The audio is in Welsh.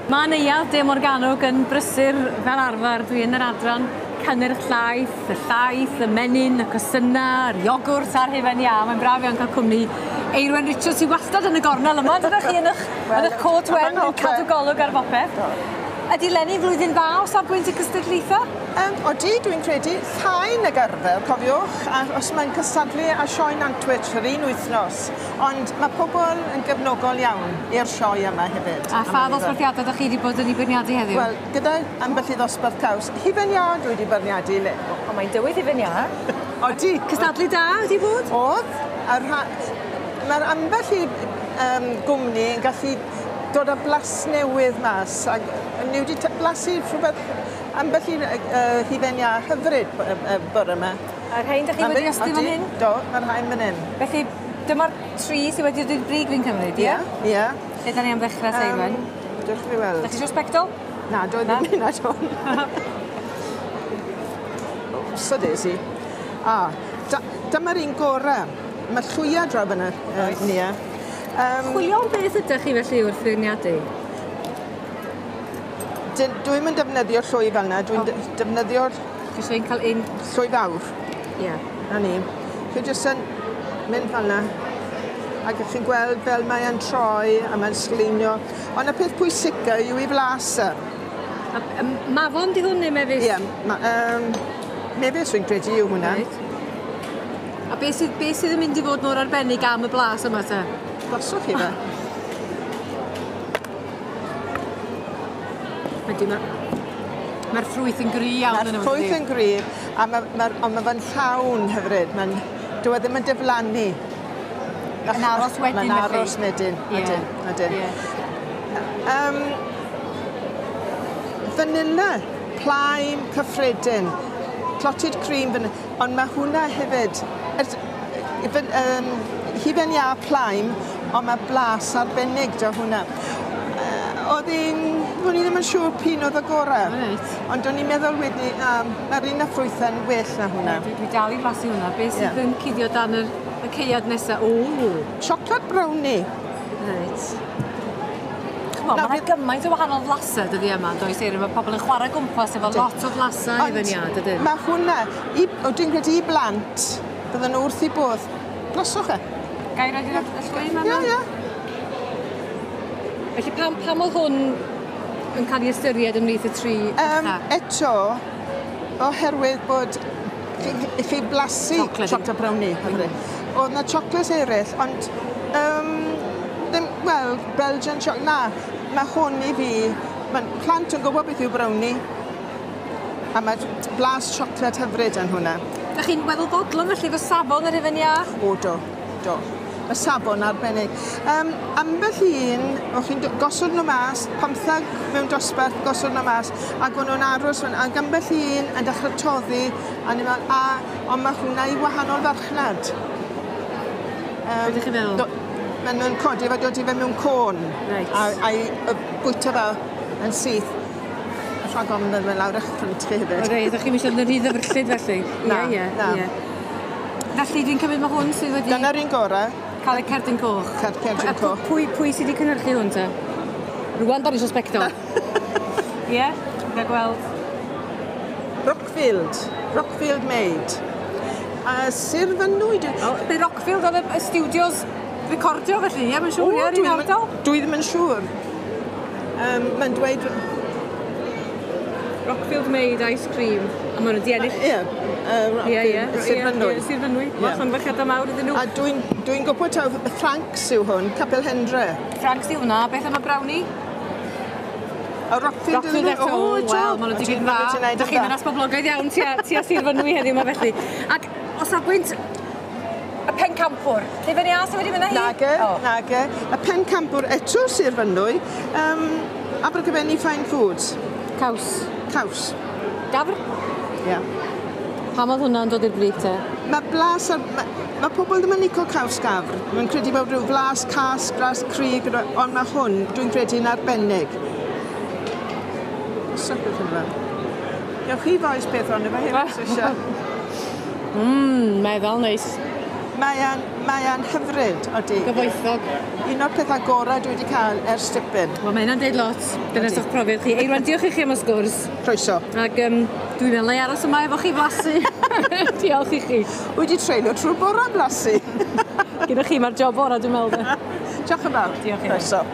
Ma' Neuadd De Morgannwg yn brysur fel arfer. Dwi yn yr adran cynnyrch llaeth, y llaeth, y menyn, y cosynna, yr iogwrt a'r hufen iâ. Mae'n braf iawn cael cwmni Eirwen Richards sy wastad yn y gornel yma. Ydych chi yn 'ych yn 'ych cot wen yn cadw golwg ar bopeth. Ydi 'leni flwyddyn dda o safbwynt y cystadlaetha? Odi, dwi'n credu llai nag arfer, cofiwch, a os mae'n cystadlu â Sioe Nantwich yr un wythnos, ond mae pobl yn gefnogol iawn i'r sioe yma hefyd. A pha ddosbarthiadau ydych chi wedi bod yn ei beirniadu heddiw? Wel, gyda ambell i ddosbarth caws, hufen iâ dwi wedi beirniadu le. O, mae'n dywydd hufen iâ. Odi. Cystadlu da wedi bod? O'dd. A rha... Mae'r ambell i gwmni yn gallu dod â blas newydd mas, ac ni wedi blasu rhywbeth ambell i hufen iâ hyfryd bore yma. A rhain 'dych chi wedi restru fan hyn? Do, mae'r rhain fan hyn. Felly dyma'r tri sydd wedi dod i'r brig fi'n cymryd, ie? Ie, ie. Lle 'dan ni am ddechrau te Iwan? Dewch i fi weld. 'Dach chi isio sbectol? Na, dwi ddim hynna 'to. So Daisy. A, dyma'r un gore. Mae llwya draw fyna, Nia. Chwilio am beth ydych chi felly wrth feirniadu? Dwi'm yn defnyddio llwy fel 'na, dwi'n defnyddio'r... Chi isie cael un... Llwy fawr. Ie. 'Na ni. Chi jyst yn mynd fel 'na ac 'ych chi'n gweld fel mae e'n troi a mae'n sgleinio. Ond y peth pwysica yw 'i flas e. A mafon 'di hwn neu mefus? Ie, mefus fi'n credu yw hwnna. Reit. A beth sydd beth sydd yn mynd i fod mor arbennig am y blas yma te? Blaswch chi fe. Ydy ma' ma'r ffrwyth yn gry iawn yno fo. Ma'r ffrwyth yn gry a ma' ma'r on' ma' fe'n llawn hyfryd ma'n dyw e ddim yn diflannu. Yn aros wedyn felly? Ma'n aros wedyn. Ydyn, ydyn. Ie. Vanilla, plaen cyffredin, clotted cream vanilla, ond ma' hwnna hefyd, hufen iâ plaen, ond ma' blas arbennig 'da hwnna. O'dd un, o'n i ddim yn siŵr p'un o'dd y gore. Reit. Ond o'n i'n meddwl wedyn, ma'r un â ffrwythe'n well na hwnna. Dwi dal i flasu hwnna. Be' sydd yn cuddio dan y caead nesa? O! Chocolate brownie. Reit. Ch'mo' ma' 'na gymaint o wahanol flase dyddie yma yndoes Eiryn? Ma' pobol yn chware gwmpas efo lot o flasau hufen iâ dydyn? Ma' hwnna, i, o dwi'n credu i blant, bydden nhw wrth 'u bodd. Blaswch e. Gai roid y llwy 'ma mewn? Ie, ie. Felly pam o'dd hwn yn cael ei ystyried ymhlith y tri ucha? Eto, oherwydd bod chi blasu chocolate brownie. O'dd 'na chocolates eraill, ond ddim, wel, Belgian chocolate, na, ma' hwn i fi, ma' plant yn gwybod beth yw brownie, a ma' blas chocolate hyfryd yn hwnna. Dach chi'n weddol fodlon felly efo safon yr hufen iâ? O do, do. Y safon arbennig. Ambell un, o'ch chi'n gosod nhw mas, 15 mewn dosbarth, gosod nhw mas, ac o'n nhw'n aros fan, ac ambell un yn dechrau toddi, a ni'n meddwl, a, ond mae hwnna i wahanol farchnad. Be ydych chi'n feddwl? Maen nhw'n codi fe, dod i fe mewn côn. Reit. A i bwyta fe yn syth. Rhag ofn bod fe lawr eich ffrynt chi hefyd. O reit, o'ch chi'n eisiau mynd yn rhy ddyfrllyd felly? Na, ie, na. Ie. Felly dwi'n cymryd mae hwn sydd wedi... Dyna'r un gorau. Cael y cerdyn coch. Cerdyn coch. Pwy sydd wedi cynhyrchu hwn te? Rwan da ni eisiau sbectol. Ie, ga gweld. Rockfield. Rockfield made. A Sir Fynwy... O, be Rockfield oedd y studios recordio felly, ie, mae'n siŵr, ie, yr un ardal? Dwi ddim yn siŵr. Mae'n dweud... Rockfield made ice cream. A maen nhw wedi ennill. Ie. Ie, Sir Fynwy. Ie, Sir Fynwy. Wel, llongyfarchiadau mawr iddyn nhw. A dwi'n gwybod taw Franks yw hwn, Capel Hendre. Franks yw hwnna. Beth am y brownie? A Rockfield Rockfield eto. O, wel, maen nhw wedi gwneud yn dda. Dych chi'n ddynas boblogaidd iawn tua Sir Fynwy heddiw yma felly. Ac o safbwynt y pencampwr, hufen iâ sydd wedi mynd â hi? Nage, nage. Y pencampwr eto Sir Fynwy, Abergavenny Fine Foods. Caws. Caws. Gafr? Ie. Pam oedd hwnna'n dod i'r brig te? Mae blas ar... Mae pobl ddim yn licio caws gafr. Mae'n credu bod rhyw flas cas, blas cryg, ond mae hwn, dwi'n credu, yn arbennig. Sut beth yna fe? Gewch chi foes beth ond efo hefyd, os eisiau. Meddal neis. Mae e'n mae e'n hyfryd, odi. Gyfoethog. Un o'r pethau gorau dwi wedi cael ers dipyn. Wel, mae hynna'n deud lot. Dyna Ydi. o'ch profiad chi. Eirwen, diolch i chi am y sgwrs. Croeso. Ac dwi'n meddwl na i aros yma efo chi flasu. Diolch i chi. Wedi treulio trwy'r bore yn blasu. Gyda chi, mae'r job orau, dwi'n meddwl. de. Diolch yn fawr. Diolch i chi. Croeso.